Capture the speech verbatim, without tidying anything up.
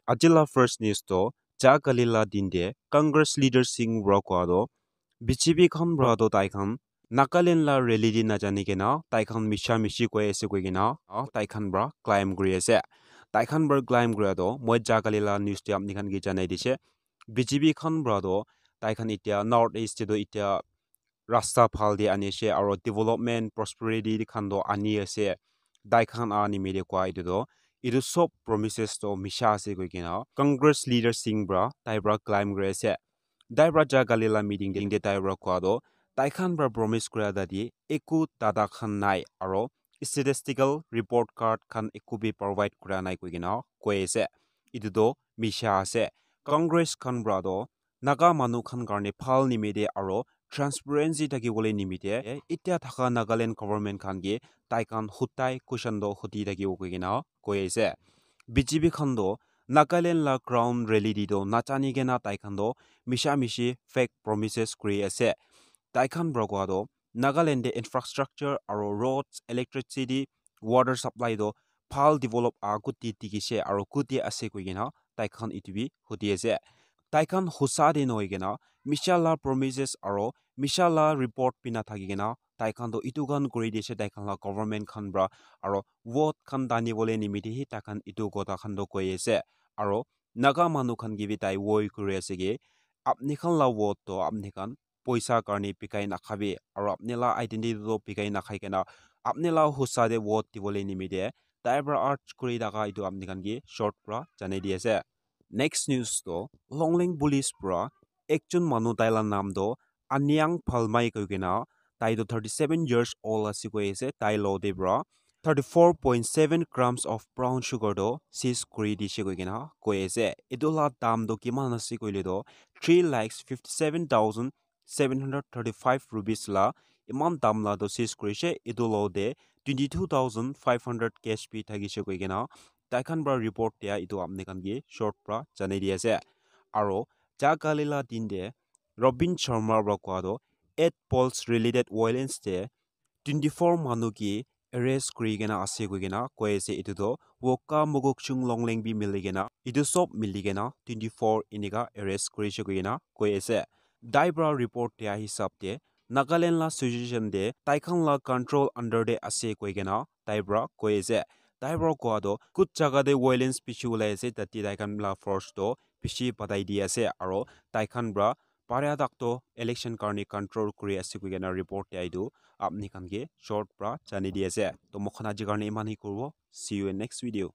Aji la first news to, ja kali la din te Congress leader Singh para koa to, B J P khan para to tai khan Nagaland la rally te najani kena tai khan misha mishi koi ase koi kena, ah, tai khan para claim kuri ase. Tai khan para claim kura to moi ja kali la news te apni khan ke janai dise. B J P khan para to tai khan itya North East te to itya rasta phal te ani ase aro development prosperity khan to ani ase. Tai khan a nimite koa etu to, etu sob promises to misha ase koi kena Congress leader Singh para tai para claim kuri ase. Tai para ja kali la meeting te tai para koa to, tai khan para promise kura tate eku data khan nai aro statistical report card khan eku bi provide kura nai koi kena koi ase. Etu to misha ase. Congress khan para to Naga manu khan karne phal nimite aro transparency thaki bole nimite itya thaka Nagaland government khan ke tai khan hutai question to huti thaki bo koi kena koi ase. B J P khan to Nagaland la ground rally te to nachani kena tai khan to misha mishi fake promises kuri ase. Tai khan para koa to Nagaland te infrastructure aro roads, electricity, water supply to phal develop a kuti dikhi se aro kuti ase koi kena tai khan etu bi huti ase. Tai khan hosa te nohoi kena misha la promises aro misha la report bina thaki kena tai khan to etu khan kuri dise tai khan la government khan para aro vote khan dani bole nimite hi tai khan etu kotha khan to koi ase. Aro Naga manu khan ke bi tai woi kuri ase ki apni khan la vote to apni khan poisa karne bikai nakhabi aro apni la identity to bikai nakhai kena apni la hosa te vote dibole nimite tai para urge kuri thaka etu apni khan ke short para janai di ase. Next news to Longleng police para ekjon manu tai la naam to Aniang Phalmai koi kena tai to thirty seven years old ase koi ase tai lo te para thirty four point seven grams of brown sugar to seize kuri dise koi kena koi ase. Etu la dam to kiman ase koile to three lakhs fifty seven thousand seven hundred thirty five rupees la iman dam la to seize kuri se. Etu lo te twenty two thousand five hundred cash bi thaki se koi kena tai khan para report dia etu apni khan ke short para janai di ase. Aro ja kali la din te Robin Sharma para koa to eight polls related violence te twenty four manu ke arrest kuri kena ase koi kena koi ase. Etu to Wokha Mokokchung Longleng bi mili kena etu sob mili kena twenty four enika arrest kuri se koi kena koi ase. Tai para report dia hisab te Nagaland la situation te tai khan la control under te ase koi kena tai para koi ase. Tai para koa to kut jaga te violence bishi ulai ase tate tai khan la force to bishi batai di ase aro tai khan para paria tak to election karne control kuri ase koi kena report dia etu apni khan ke short para janai di ase. To moi khan aji karne iman hi kuribo. See you in next video.